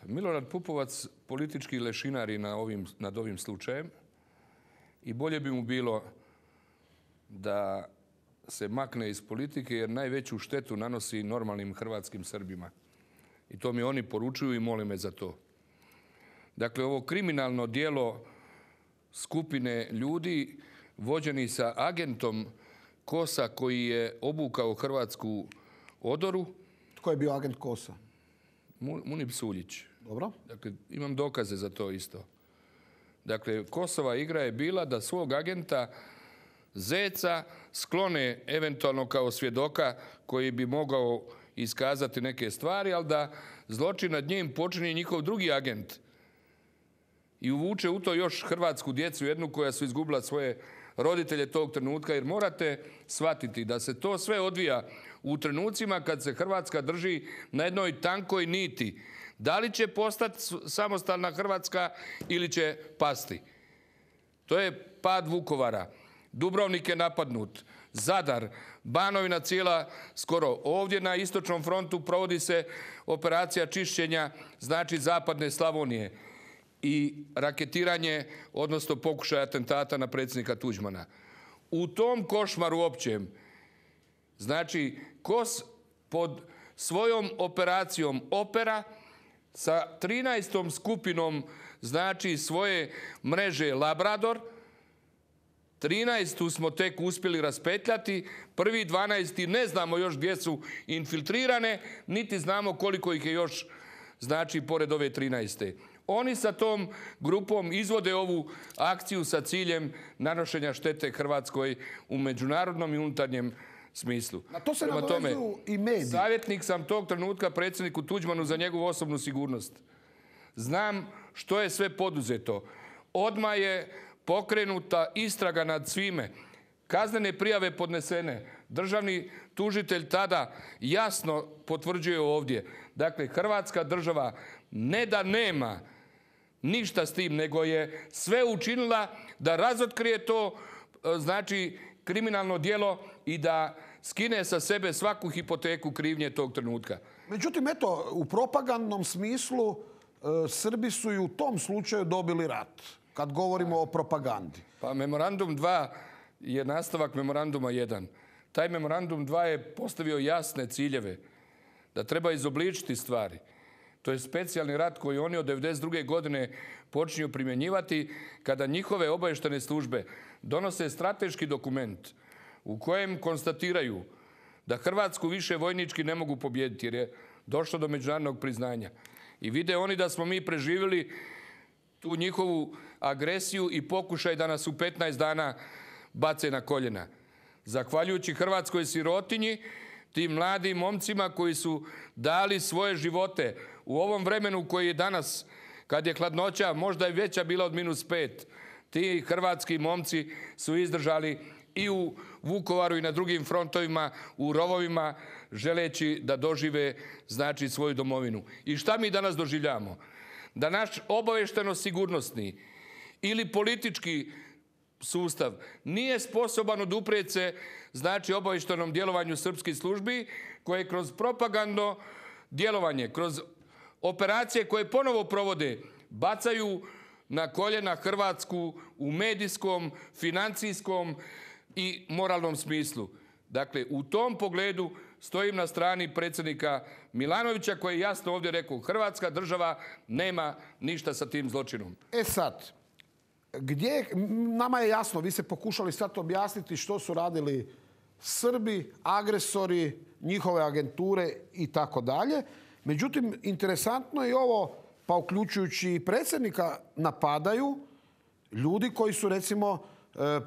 Milorad Pupovac politički lešinari nad ovim slučajem i bolje bi mu bilo da se makne iz politike jer najveću štetu nanosi normalnim hrvatskim Srbima. I to mi oni poručuju i mole me za to. Dakle, ovo kriminalno djelo skupine ljudi vođeni sa agentom KOS-a koji je obukao hrvatsku odoru. Tko je bio agent KOS-a? Munib Suljić. Dobro. Dakle, imam dokaze za to isto. Dakle, KOS-ova igra je bila da svog agenta Zeca sklone eventualno kao svjedoka koji bi mogao iskazati neke stvari, ali da zločin nad njim počini njihov drugi agent i uvuče u to još hrvatsku djecu, jednu koja su izgubila svoje roditelje tog trenutka, jer morate shvatiti da se to sve odvija u trenucima kad se Hrvatska drži na jednoj tankoj niti. Da li će postati samostalna Hrvatska ili će pasti? To je pad Vukovara. Dubrovnik je napadnut. Zadar, Banovina cijela skoro. Ovdje na istočnom frontu provodi se operacija čišćenja, znači zapadne Slavonije i raketiranje, odnosno pokušaj atentata na predsjednika Tuđmana. U tom košmaru općem, znači KOS pod svojom operacijom Opera sa 13. skupinom, znači svoje mreže Labrador, 13. smo tek uspjeli raspetljati, prvi 12. ne znamo još gdje su infiltrirane, niti znamo koliko ih je još, znači, pored ove 13. Oni sa tom grupom izvode ovu akciju sa ciljem nanošenja štete Hrvatskoj u međunarodnom i unutarnjem smislu. Na to se nadovezuju i mediji. Savjetnik sam tog trenutka predsjedniku Tuđmanu za njegovu osobnu sigurnost. Znam što je sve poduzeto. Odmah je pokrenuta istraga nad svime. Kaznene prijave podnesene. Državni tužitelj tada jasno potvrđuje ovdje. Dakle, Hrvatska država ne da nema ništa s tim, nego je sve učinila da razotkrije to, znači, kriminalno djelo i da skine sa sebe svaku hipoteku krivnje tog trenutka. Međutim, eto, u propagandnom smislu Srbi su i u tom slučaju dobili rat, kad govorimo o propagandi. Pa memorandum 2 je nastavak memoranduma 1. Taj memorandum 2 je postavio jasne ciljeve da treba izobličiti stvari. To je specijalni rat koji oni od 1992. godine počinju primjenjivati kada njihove obavještajne službe donose strateški dokument u kojem konstatiraju da Hrvatsku više vojnički ne mogu pobijediti jer je došlo do međunarodnog priznanja. I vide oni da smo mi preživjeli tu njihovu agresiju i pokušaj da nas u 15 dana bace na koljena. Zahvaljujući hrvatskoj sirotinji, tim mladim momcima koji su dali svoje živote u ovom vremenu koji je danas, kad je hladnoća možda i veća bila od -5, ti hrvatski momci su izdržali i u Vukovaru i na drugim frontovima, u rovovima, želeći da dožive, znači, svoju domovinu. I šta mi danas doživljamo? Da naš obavješteno-sigurnosni ili politički sustav nije sposoban oduprijeti se, znači, obavještajnom djelovanju srpskih službi koje kroz propagandno djelovanje, kroz operacije koje ponovo provode, bacaju na koljena Hrvatsku u medijskom, financijskom i moralnom smislu. Dakle, u tom pogledu stojim na strani predsjednika Milanovića koji je jasno ovdje rekao Hrvatska država nema ništa sa tim zločinom. E sad, nama je jasno, vi ste pokušali sad objasniti što su radili Srbi, agresori, njihove agenture i tako dalje. Međutim, interesantno je ovo, pa uključujući i predsjednika, napadaju ljudi koji su, recimo,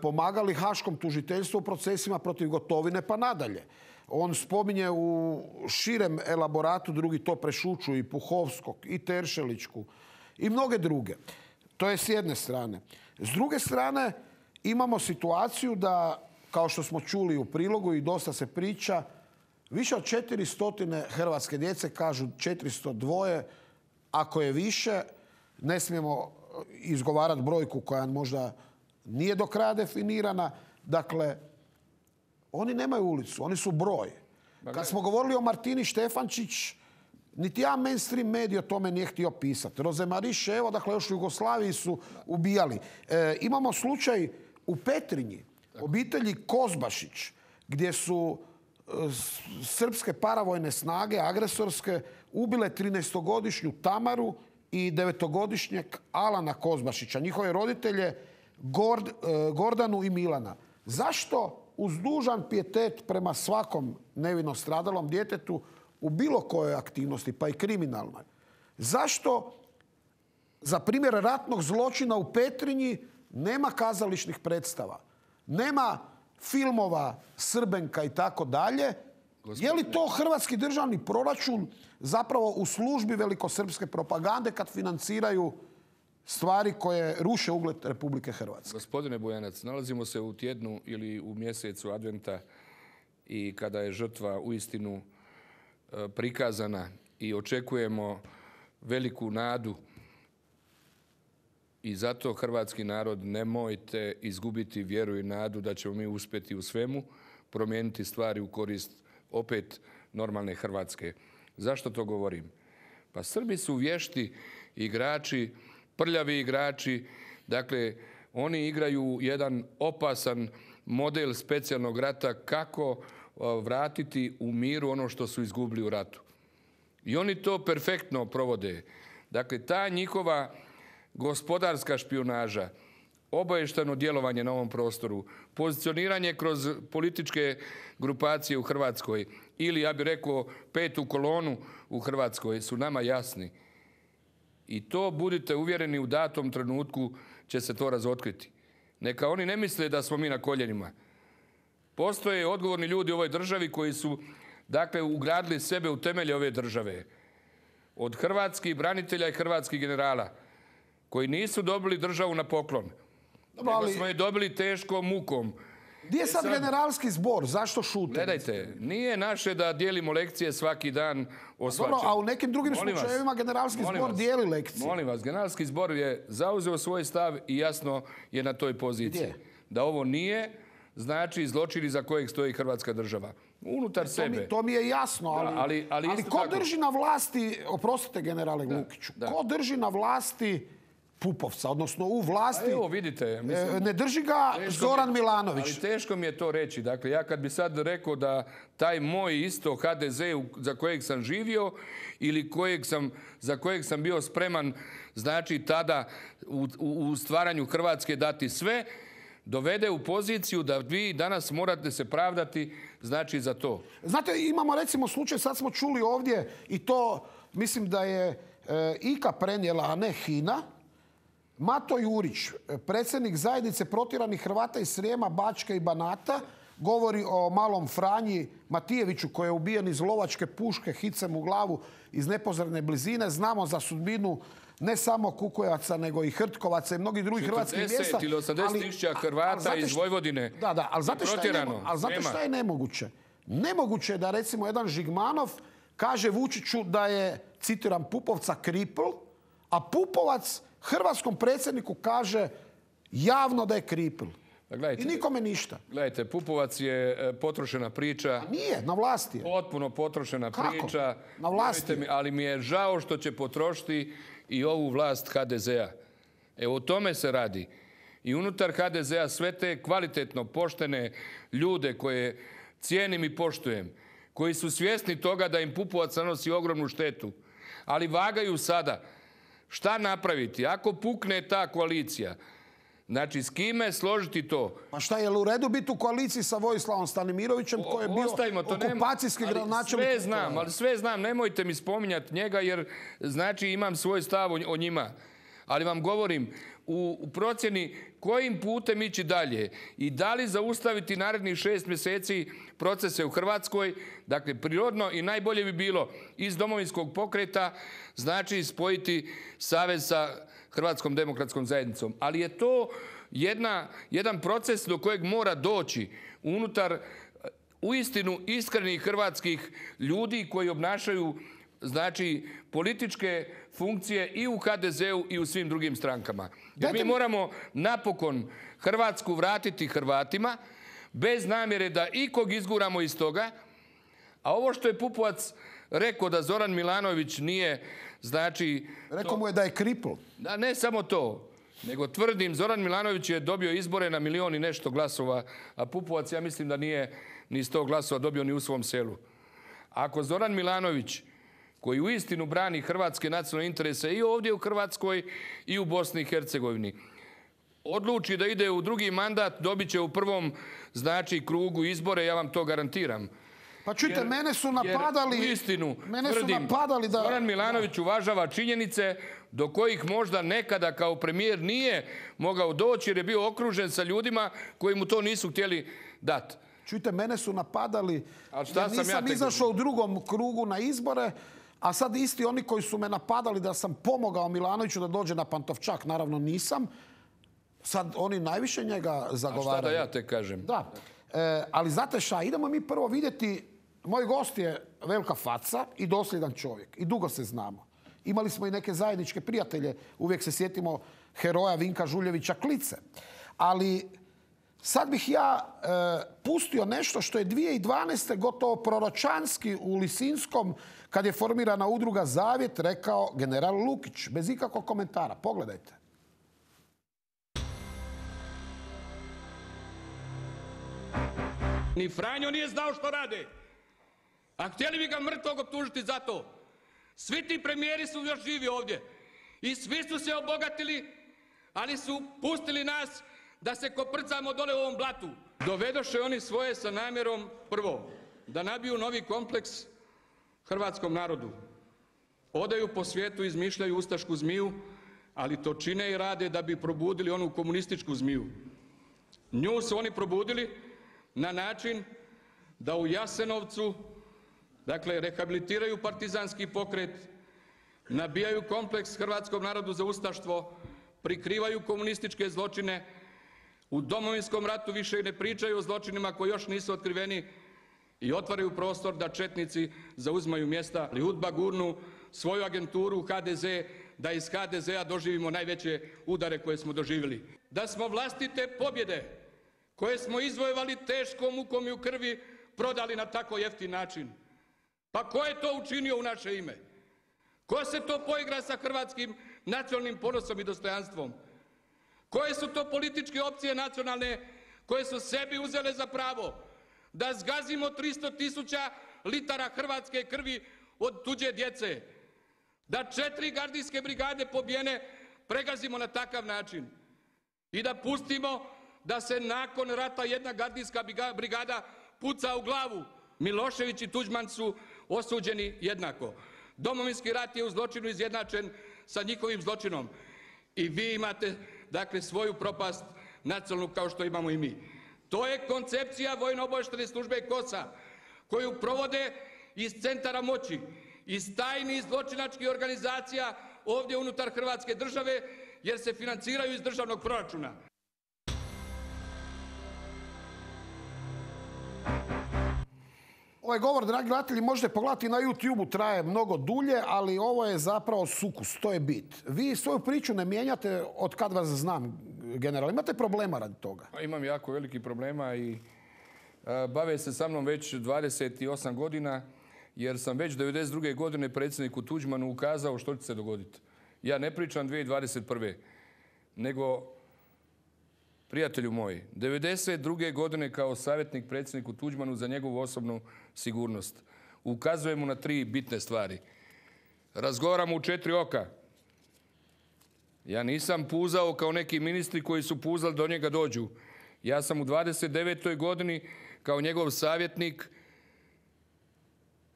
pomagali Haškom tužiteljstvu u procesima protiv Gotovine pa nadalje. On spominje u širem elaboratu, drugi to prešućuju, i Puhovskog, i Teršelićku, i mnoge druge. To je s jedne strane. S druge strane, imamo situaciju da, kao što smo čuli u prilogu i dosta se priča, više od 400 hrvatske djece, kažu 402, ako je više, ne smijemo izgovarati brojku koja možda nije do kraja definirana. Dakle, oni nemaju ulicu, oni su broj. Kad smo govorili o Martini Štefančić, niti jedan mainstream medij o tome nije htio pisati. Rozemariš, evo, dakle, još u Jugoslaviji su ubijali. Imamo slučaj u Petrinji, obitelji Kozbašić, gdje su srpske paravojne snage, agresorske, ubile 13-godišnju Tamaru i 9-godišnjeg Alana Kozbašića, njihove roditelje Gordanu i Milana. Zašto uz dužan pijetet prema svakom nevino stradalom djetetu u bilo kojoj aktivnosti, pa i kriminalnoj, zašto za primjer ratnog zločina u Petrinji nema kazališnih predstava, nema filmova Srbenka i tako dalje? Je li to hrvatski državni proračun zapravo u službi velikosrpske propagande kad financiraju stvari koje ruše ugled Republike Hrvatske? Gospodine Bujanac, nalazimo se u tjednu ili u mjesecu adventa i kada je žrtva uistinu prikazana i očekujemo veliku nadu. I zato hrvatski narod, nemojte izgubiti vjeru i nadu da ćemo mi uspjeti u svemu, promijeniti stvari u korist opet normalne Hrvatske. Zašto to govorim? Pa Srbi su vješti igrači, prljavi igrači, dakle oni igraju jedan opasan model specijalnog rata kako vratiti u miru ono što su izgubili u ratu. I oni to perfektno provode. Dakle, ta njihova gospodarska špijunaža, obavještajno djelovanje na ovom prostoru, pozicioniranje kroz političke grupacije u Hrvatskoj ili, ja bih rekao, petu kolonu u Hrvatskoj su nama jasni. I to, budite uvjereni, u datom trenutku će se to razotkriti. Neka oni ne misle da smo mi na koljenima. Postoje odgovorni ljudi u ovoj državi koji su, dakle, ugradili sebe u temelje ove države. Od hrvatskih branitelja i hrvatskih generala, koji nisu dobili državu na poklon, nego smo je dobili teškom mukom. Gdje je sad generalski zbor? Zašto šute? Gledajte, nije naše da dijelimo lekcije svaki dan o svačem. A u nekim drugim slučajevima generalski zbor dijeli lekcije. Molim vas, generalski zbor je zauzeo svoj stav i jasno je na toj poziciji. Gdje? Da ovo nije, znači zločini za kojeg stoji Hrvatska država. Unutar sebe. To mi je jasno, ali ko drži na vlasti, oprostite generale Lukiću, ko drži na vlasti Pupovca, odnosno u vlasti, evo vidite, ne drži ga Zoran Milanović. Ali teško mi je to reći. Dakle, ja kad bi sad rekao da taj moj isto HDZ za kojeg sam živio ili za kojeg sam bio spreman, znači tada u stvaranju Hrvatske dati sve, dovede u poziciju da vi danas morate se pravdati, znači, za to. Znate, imamo recimo slučaj, sad smo čuli ovdje i to mislim da je IKA prenijela, a ne HINA. Mato Jurić, predsjednik zajednice protjeranih Hrvata iz Srijema, Bačke i Banata, govori o malom Franji Matijeviću koji je ubijen iz lovačke puške hicem u glavu iz neposredne blizine. Znamo za sudbinu ne samo Kukovaca, nego i Hrtkovaca i mnogih drugih hrvatskih mjesta. 40 ili 80 tisuća Hrvata iz Vojvodine. Da, ali znate šta je nemoguće? Nemoguće je da recimo jedan Žigmanov kaže Vučiću da je, citiram Pupovca, kripl, a Pupovac hrvatskom predsjedniku kaže javno da je kripl. I nikome ništa. Gledajte, Pupovac je potrošena priča. A nije, na vlasti je. Potpuno potrošena priča. Na vlasti je. Ali mi je žao što će potrošiti i ovu vlast HDZ-a. Evo, o tome se radi. I unutar HDZ-a sve te kvalitetno poštene ljude koje cijenim i poštujem, koji su svjesni toga da im Pupovac nanosi ogromnu štetu, ali vagaju sada šta napraviti ako pukne ta koalicija. Znači, s kime složiti to? Pa šta, je li u redu biti u koaliciji sa Vojislavom Stanimirovićem koji je bio okupacijski gradonačelnik? Sve znam, nemojte mi spominjati njega jer znači imam svoj stav o njima. Ali vam govorim, u procjeni kojim putem ići dalje i da li zaustaviti narednih 6 mjeseci procese u Hrvatskoj, dakle prirodno i najbolje bi bilo iz Domovinskog pokreta, znači spojiti savez sa Hrvatskom demokratskom zajednicom. Ali je to jedan proces do kojeg mora doći unutar uistinu iskrenih hrvatskih ljudi koji obnašaju znači političke funkcije i u HDZ-u i u svim drugim strankama. Jer mi moramo napokon Hrvatsku vratiti Hrvatima bez namjere da ikog izguramo iz toga. A ovo što je Pupovac rekao da Zoran Milanović nije, znači... Rekao mu je da je kripl. Da, ne samo to, nego tvrdim, Zoran Milanović je dobio izbore na 1 i nešto glasova, a Pupovac, ja mislim da nije ni 100 glasova dobio ni u svom selu. Ako Zoran Milanović, koji uistinu brani hrvatske nacionalne interese i ovdje u Hrvatskoj i u Bosni i Hercegovini, odluči da ide u drugi mandat, dobit će u prvom, znači, krugu izbore, ja vam to garantiram. Pa čujte, mene su napadali... Uistinu, tvrdim, Zoran Milanović uvažava činjenice do kojih možda nekada kao premijer nije mogao doći jer je bio okružen sa ljudima koji mu to nisu htjeli dati. Čujte, mene su napadali jer nisam izašao u drugom krugu na izbore, a sad isti oni koji su me napadali da sam pomogao Milanoviću da dođe na Pantovčak, naravno nisam, sad oni najviše njega zagovaraju. A šta da ja te kažem? Da, ali znate šta, idemo mi prvo vidjeti, moj gost je velika faca i dosljedan čovjek i dugo se znamo. Imali smo i neke zajedničke prijatelje, uvijek se sjetimo heroja Vinka Žuljevića Klice. Ali sad bih ja pustio nešto što je 2012. gotovo proročanski u Lisinskom, kad je formirana udruga Zavjet, rekao general Lukić, bez ikakvog komentara. Pogledajte. Ni Franjo nije znao što rade. A htjeli bi ga mrtvog optužiti za to. Svi ti premijeri su još živi ovdje. I svi su se obogatili, ali su pustili nas da se koprcamo dole u ovom blatu. Dovedoše oni svoje sa namjerom, prvo, da nabiju novi kompleks hrvatskom narodu. Odaju po svijetu, izmišljaju ustašku zmiju, ali to čine i rade da bi probudili onu komunističku zmiju. Nju su oni probudili na način da u Jasenovcu, dakle, rehabilitiraju partizanski pokret, nabijaju kompleks hrvatskom narodu za ustaštvo, prikrivaju komunističke zločine, u Domovinskom ratu više i ne pričaju o zločinima koji još nisu otkriveni i otvaraju prostor da četnici zauzmaju mjesta. UDBA gurnu svoju agenturu u HDZ, da iz HDZ-a doživimo najveće udare koje smo doživjeli. Da smo vlastite pobjede koje smo izvojevali teškom mukom i u krvi prodali na tako jeftin način. Pa ko je to učinio u naše ime? Ko se to poigra sa hrvatskim nacionalnim ponosom i dostojanstvom? Koje su to političke opcije nacionalne koje su sebi uzele za pravo da zgazimo 300.000 litara hrvatske krvi od tuđe djece? Da 4 gardijske brigade pobijene pregazimo na takav način i da pustimo da se nakon rata jedna gardijska brigada puca u glavu. Milošević i Tuđman su osuđeni jednako. Domovinski rat je u zločinu izjednačen sa njihovim zločinom. I vi imate, dakle, svoju propast nacionalnu kao što imamo i mi. To je koncepcija vojno-obavještajne službe KOS-a koju provode iz centara moći, iz tajnih zločinačkih organizacija ovdje unutar Hrvatske države, jer se financiraju iz državnog proračuna. Ovaj govor, dragi gledatelji, možete pogledati na YouTube-u, traje mnogo dulje, ali ovo je zapravo sukus, to je bit. Vi svoju priču ne mijenjate od kad vas znam, general. Imate problema radi toga? Imam jako veliki problema i bave se sa mnom već 28 godina, jer sam već 1992. godine predsjedniku Tuđmanu ukazao što će se dogoditi. Ja ne pričam 2021. nego, prijatelju moj, 1992. godine kao savjetnik predsjedniku Tuđmanu za njegovu osobnu sigurnost ukazujem mu na 3 bitne stvari. Razgovaramo u 4 oka. Ja nisam puzao kao neki ministri koji su puzali do njega dođu. Ja sam u 29. godini kao njegov savjetnik,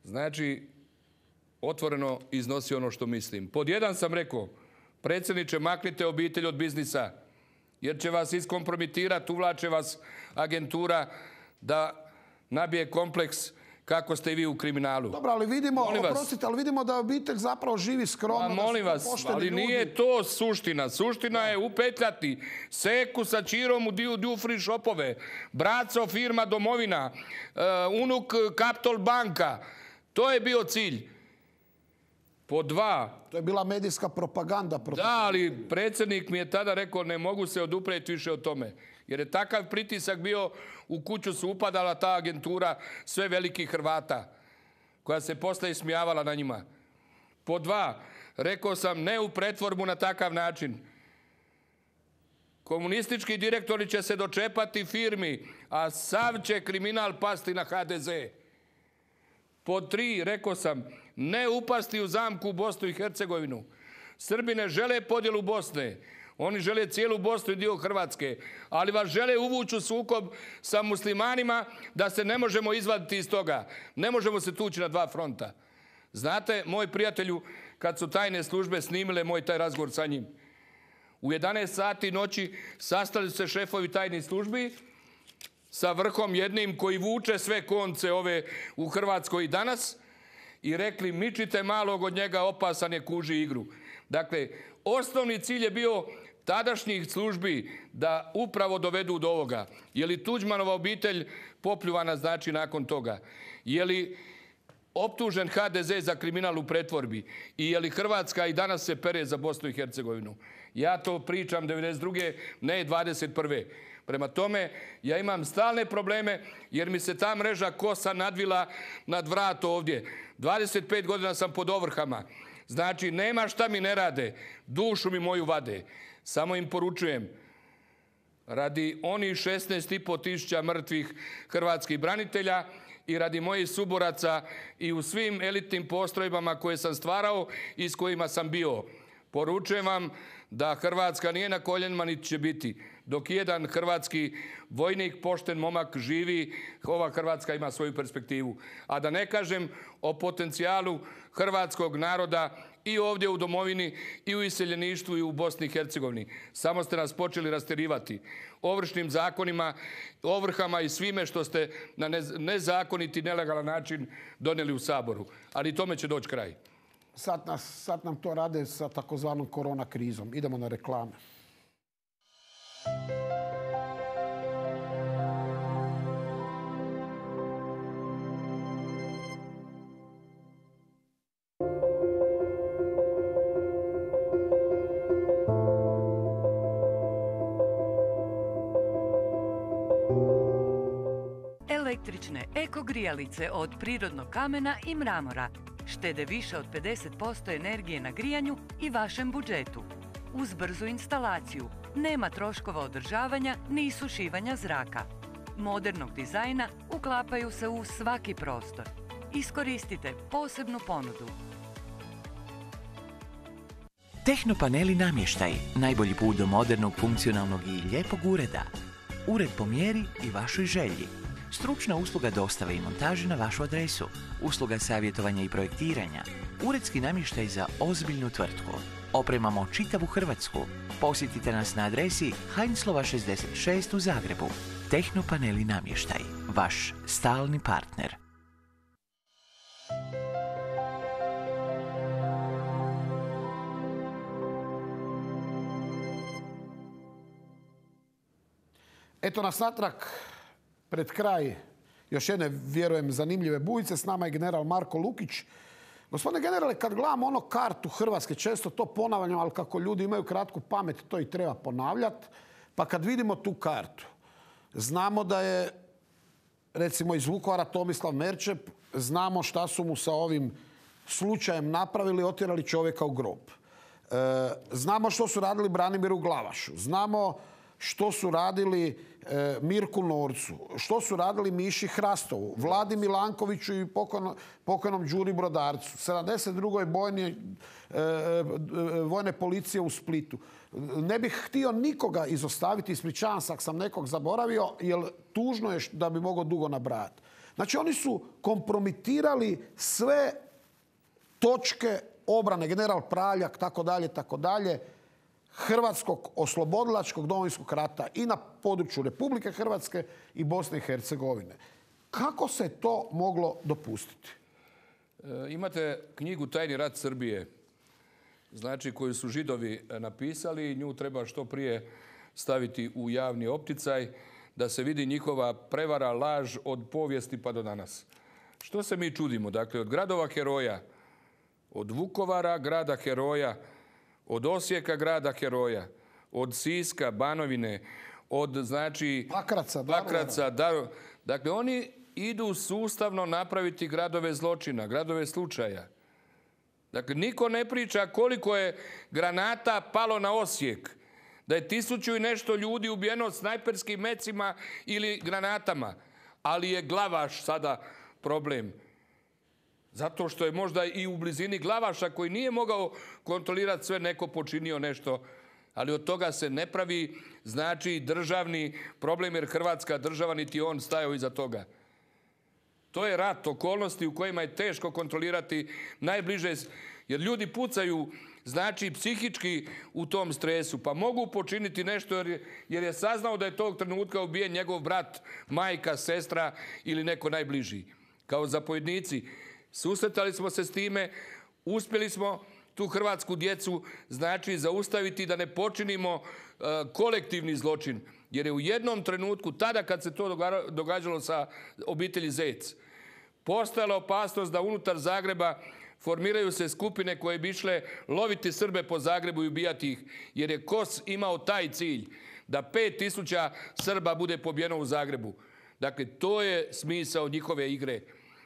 znači, otvoreno iznosio ono što mislim. Pod 1 sam rekao, predsjedniče, maknite obitelj od biznisa, jer će vas iskompromitirati, uvlače vas agentura da nabije kompleks kako ste i vi u kriminalu. Dobro, ali vidimo, oprostite, ali vidimo da obitelj zapravo živi skromno. Molim vas, ali nije to suština. Suština je upetljati Seku sa Čirom u duty free shopove, braco firma Domovina, unuk Capital banka. To je bio cilj. Pod 2. To je bila medijska propaganda. Da, ali predsjednik mi je tada rekao ne mogu se oduprijeti više o tome. Jer je takav pritisak bio, u kuću su upadala ta agentura sve velikih Hrvata, koja se posle ismijavala na njima. Pod 2. Rekao sam ne u pretvorbu na takav način. Komunistički direktori će se dočepati firmi, a sav će kriminal pasti na HDZ. Pod 3, rekao sam, ne upasti u zamku u Bosnu i Hercegovinu. Srbi ne žele podjelu Bosne. Oni žele cijelu Bosnu i dio Hrvatske. Ali vas žele uvući u sukob sa muslimanima da se ne možemo izvaditi iz toga. Ne možemo se tući na 2 fronta. Znate, moj prijatelju, kad su tajne službe snimile moj taj razgovor sa njim, u 11 sati noći sastali su se šefovi tajnih službi sa vrhom jednim koji vuče sve konce ove u Hrvatskoj i danas i rekli mičite malog od njega, opasan je, kuži igru. Dakle, osnovni cilj je bio tadašnjih službi da upravo dovedu do ovoga. Je li Tuđmanova obitelj popljuvana znači nakon toga? Je li optužen HDZ za kriminal u pretvorbi? I je li Hrvatska i danas se pere za Bosnu i Hercegovinu? Ja to pričam 92. ne 21. Prema tome, ja imam stalne probleme jer mi se ta mreža kosa nadvila nad vrat ovdje. 25 godina sam pod ovrhama. Znači, nema šta mi ne rade. Dušu mi moju vade. Samo im poručujem, radi onih 16,5 tisuća mrtvih hrvatskih branitelja i radi mojih suboraca i u svim elitnim postrojbama koje sam stvarao i s kojima sam bio, poručujem vam da Hrvatska nije na koljenima niti će biti. Dok jedan hrvatski vojnik, pošten momak živi, ova Hrvatska ima svoju perspektivu. A da ne kažem o potencijalu hrvatskog naroda i ovdje u domovini, i u iseljeništvu, i u Bosni i Hercegovini. Samo ste nas počeli rasterivati ovršnim zakonima, ovrhama i svime što ste na nezakoniti, nelegalan način donijeli u Saboru. Ali tome će doći kraj. Sad nam to rade sa takozvanom korona krizom. Idemo na reklame. Električne ekogrijalice od prirodnog kamena i mramora štede više od 50% energije na grijanju i vašem budžetu. Uz brzu instalaciju, nema troškova održavanja ni isušivanja zraka. Modernog dizajna uklapaju se u svaki prostor. Iskoristite posebnu ponudu. Tehnopaneli namještaj, najbolji put do modernog, funkcionalnog i lijepog ureda. Ured po mjeri i vašoj želji. Stručna usluga dostave i montaže na vašu adresu. Usluga savjetovanja i projektiranja. Uredski namještaj za ozbiljnu tvrtku. Opremamo čitavu Hrvatsku. Posjetite nas na adresi Heinzlova 66 u Zagrebu. Tehnopaneli namještaj. Vaš stalni partner. Eto nas natrag pred kraj još jedne, vjerujem, zanimljive bujice. S nama je general Marko Lukić. Gospodine generale, kad gledamo ono kartu Hrvatske, često to ponavljamo, ali kako ljudi imaju kratku pamet, to i treba ponavljati. Pa kad vidimo tu kartu, znamo da je, recimo, iz Vukovara Tomislav Merčep, znamo šta su mu sa ovim slučajem napravili, otjerali čovjeka u grob. Znamo što su radili Branimiru Glavašu. Znamo što su radili Mirku Norcu, što su radili Miši Hrastovu, Vladi Milankoviću i pokojnom Đuri Brodarcu, 72. vojne policije u Splitu. Ne bih htio nikoga izostaviti, ispričavam se ako sam nekog zaboravio, jer tužno je da bi mogao dugo nabrajati. Znači, oni su kompromitirali sve točke obrane, general Praljak, tako dalje, Hrvatskog oslobodilačkog Domovinskog rata i na području Republike Hrvatske i Bosne i Hercegovine. Kako se to moglo dopustiti? Imate knjigu Tajni rat Srbije, znači koju su Židovi napisali i nju treba što prije staviti u javni opticaj da se vidi njihova prevara, laž od povijesti pa do danas. Što se mi čudimo? Dakle, od gradova heroja, od Vukovara, grada heroja, od Osijeka, grada heroja, od Siska, Banovine, od, znači, Pakraca. Dakle, oni idu sustavno napraviti gradove zločina, gradove slučaja. Dakle, niko ne priča koliko je granata palo na Osijek, da je 1000 i nešto ljudi ubijeno snajperskim mecima ili granatama, ali je Glavaš sada problem. Zato što je možda i u blizini Glavaša koji nije mogao kontrolirati sve, neko počinio nešto. Ali od toga se ne pravi, znači, državni problem, jer Hrvatska država niti on stajao iza toga. To je rat, okolnosti u kojima je teško kontrolirati najbliže, jer ljudi pucaju, znači, psihički u tom stresu, pa mogu počiniti nešto jer je saznao da je tog trenutka ubijen njegov brat, majka, sestra ili neko najbliži. Kao zapovjednici susretali smo se s time, uspjeli smo tu hrvatsku djecu, znači, zaustaviti da ne počinimo kolektivni zločin. Jer je u jednom trenutku, tada kad se to događalo sa obitelji Zec, postojala opasnost da unutar Zagreba formiraju se skupine koje bi išle loviti Srbe po Zagrebu i ubijati ih. Jer je KOS imao taj cilj da 5000 Srba bude pobijeno u Zagrebu. Dakle, to je smisao njihove igre.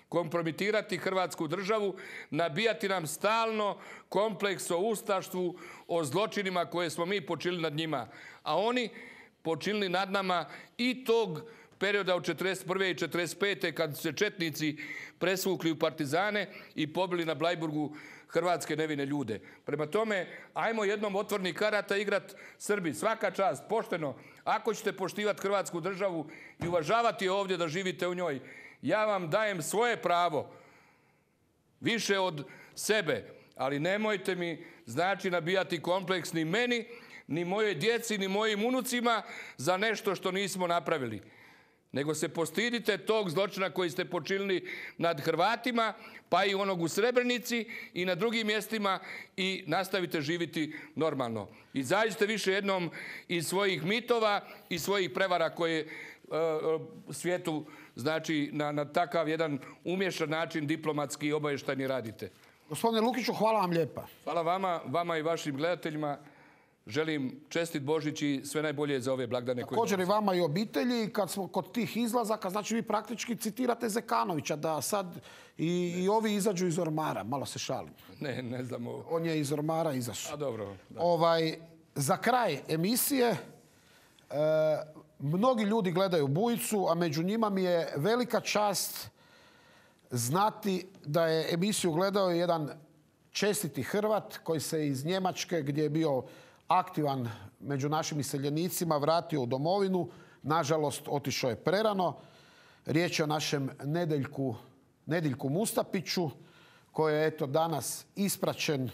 Kompromitirati Hrvatsku državu, nabijati nam stalno kompleks o ustaštvu, o zločinima koje smo mi počinili nad njima. A oni počinili nad nama i tog perioda od 1941. i 1945. kad su se četnici presvukli u partizane i pobili na Blajburgu hrvatske nevine ljude. Prema tome, ajmo jednom otvornih karata igrat Srbi. Svaka čast, pošteno. Ako ćete poštivati Hrvatsku državu i uvažavati ovdje da živite u njoj, ja vam dajem svoje pravo više od sebe, Ali nemojte mi, znači, nabijati kompleks ni meni, ni mojoj djeci, ni mojim unucima za nešto što nismo napravili. Nego se postidite tog zločina koji ste počinili nad Hrvatima, pa i onog u Srebrenici i na drugim mjestima i nastavite živjeti normalno. Izađite više jednom iz svojih mitova i svojih prevara koje svijetu, znači, na takav jedan umješan način diplomatski i obavještajni radite. Gospodine Lukiću, hvala vam lijepa. Hvala vama i vašim gledateljima. Želim čestit Božić i sve najbolje za ove blagdane. Također i vama i obitelji. Kad smo kod tih izlazaka, znači vi praktički citirate Zekanovića da sad i ovi izađu iz ormara. Malo se šalim. Ne znam ovo. On je iz ormara izašao. A dobro. Da. Za kraj emisije, mnogi ljudi gledaju Bujicu, a među njima mi je velika čast znati da je emisiju gledao jedan čestiti Hrvat koji se iz Njemačke, gdje je bio aktivan među našim iseljenicima, vratio u domovinu. Nažalost, otišao je prerano. Riječ je o našem Nedeljku Mustapiću, koji je eto danas ispraćen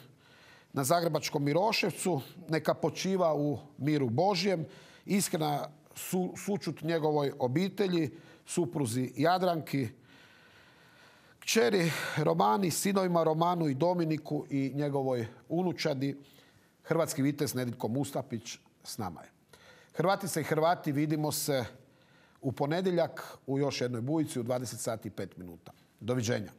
na zagrebačkom Miroševcu. Neka počiva u miru Božjem. Iskrena sućut njegovoj obitelji, supruzi Jadranki, kćeri Romani, sinovima Romanu i Dominiku i njegovoj unučadi. Hrvatski vitez Nedeljko Mustapić s nama je. Hrvatice i Hrvati, vidimo se u ponedjeljak u još jednoj Bujici u 20 sati i 5 minuta. Doviđenja.